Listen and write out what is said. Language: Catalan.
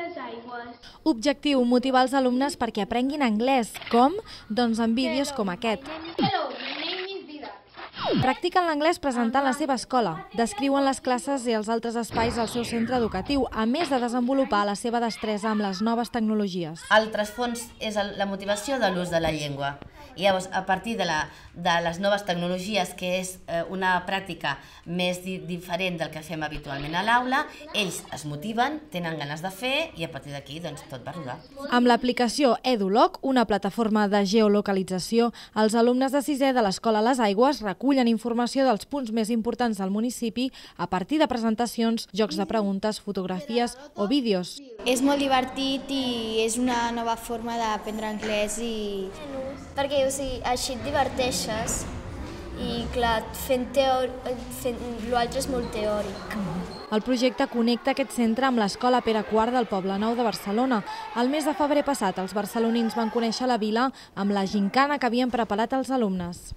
les aigües. Objectiu: motivar els alumnes perquè aprenguin anglès. Com? Doncs amb vídeos com aquest. Hello, my name is Didac. Practiquen l'anglès presentant la seva escola. Descriuen les classes i els altres espais del seu centre educatiu, a més de desenvolupar la seva destresa amb les noves tecnologies. El trasfons és la motivació de l'ús de la llengua. I llavors, a partir de les noves tecnologies, que és una pràctica més diferent del que fem habitualment a l'aula, ells es motiven, tenen ganes de fer i a partir d'aquí doncs, tot va rodar. Amb l'aplicació EduLoc, una plataforma de geolocalització, els alumnes de sisè de l'Escola Les Aigües recullen informació dels punts més importants del municipi a partir de presentacions, jocs de preguntes, fotografies o vídeos. És molt divertit i és una nova forma d'aprendre anglès perquè així et diverteixes i clar, fent l'altre és molt teòric. El projecte connecta aquest centre amb l'Escola Pere IV del Poblenou de Barcelona. El mes de febrer passat, els barcelonins van conèixer la vila amb la gincana que havien preparat els alumnes.